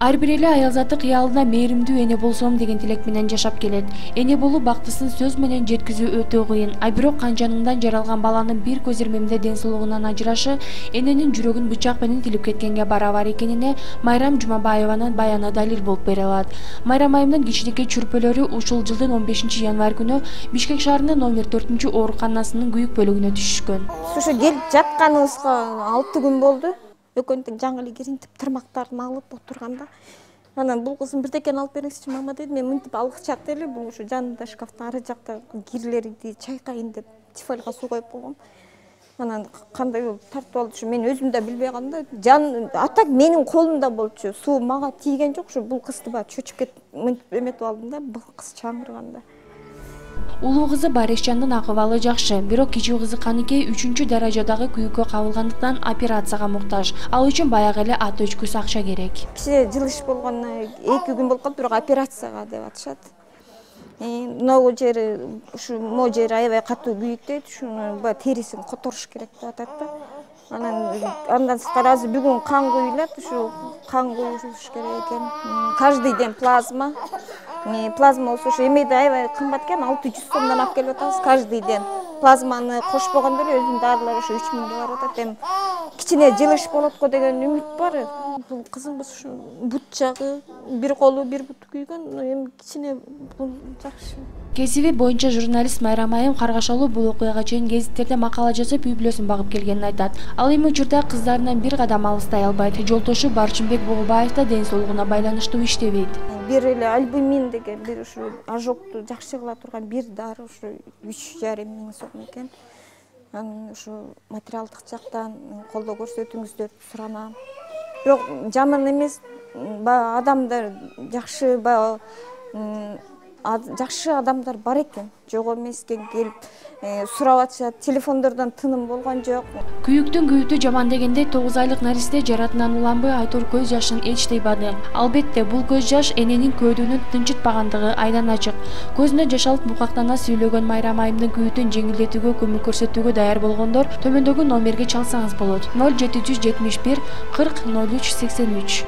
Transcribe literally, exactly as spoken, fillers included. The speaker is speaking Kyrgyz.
Ар бир эле аял заты кыялына мээримдүү эне болсом деген тилек менен жашап келет. Эне болуу бактысын сөз менен жеткизүү өтө кыйын. А бирок канжаныңдан жаралган баланын бир көз ирмемде ден соолугунан ажырашы эненин жүрөгүн бычак менен тилип кеткенге барабар экенине Майрам Жумабаеванын баяны далил болуп бере алат. Майрам айымдын кичинекей чүрпөлөрү ушул жылдын он бешинчи январь күнү Бишкек шаарынын номер төртүнчү ооруканасынын күйүк бөлүгүнө түшүшкөн. Ушу келип жатканыбызга алты күн болду. Экөөнтең жаңы эле киринтип тырмактарын алып отурганда анан бул кызым бирдекени алып бериңизчи мама деди. Мен мынтип алгычак эле бул ушу жанында шкафтын ары жакта кирлерди чайкайын деп тефальга суу коюп койгом. Анан кандай болуп тартып алды ушу мен өзүм да билбей калдым да. Жан атак менин колумда болчу. Суу мага тийген жок. Ушу бул кызды баа чөчүп кетип мынтип эметип алдым да. Бул кыз чаңырганда. Улуу кызы Барешжандын акыбалы жакшы, бирок кичүү кызы Каныкей үчүнчү даражадагы күйүккө кабылгандыктан операцияга муктаж. Ал үчүн баягы эле ата өчкүс акча керек. Кичине жылыш болгондо эки күн болуп калды, бирок операцияга деп атышат. Могу жери ушу могу жери аябай катуу күйүктөйт, ушуну баягы терисин которуш керек деп атат да. Анан андан сырткары азыр бүгүн кан куюлат, ушу кан куюш керек экен. Каждый день плазма. Плазма болсо ушу эмеде аябай кымбат экен, алты жүз сомдон алып келип атабыз каждый день. Плазманы кошпогондо эле өзүнүн дарылары ушу үч миңге барып атат. Эми кичине жылыш болот го деген үмүт бар. Бул кызымыз ушу бут жагы, бир колу, бир буту күйгөн, эми кичине бул жакшы. Кесиби боюнча журналист Майрам айым Каргашалуу бул окуяга чейин гезиттерде макала жазып, үй бүлөсүн багып келгенин айтат. Ал эми учурда кыздарынан бир кадам алыстай албайт. Жолтошу Барчынбек Богубаев да ден соолугуна байланыштуу иштебейт. Бир эле альбумин деген бир ушу ожогду жакшы кыла турган бир дары ушу үч жарым миң сом экен. Анан ушу материалдык жактан колдоо көрсөтүңүздөр суранам. Бирок жаман эмес, баягы адамдар жакшы, баягы жакшы адамдар бар экен. Жок эмес экен, келип сурап атышат. Телефондордон тыным болгон жок. Күйүктүн күйүтү жаман дегенде тогуз айлык наристе жаратынан уланбы Айтор көз жашын эч тыйбады. Албетте бул көз жаш эненин көөдүүнүн тынчытпагандыгы айдан ачык. Көзүнө жаш алып букактана сүйлөгөн Майрам айымдын күйүтүн жеңилдетүүгө көмөк көрсөтүүгө даяр болгондор төмөндөгү номерге чалсаңыз болот. ноль жети жүз жетимиш бир кырк ноль үч сексен үч.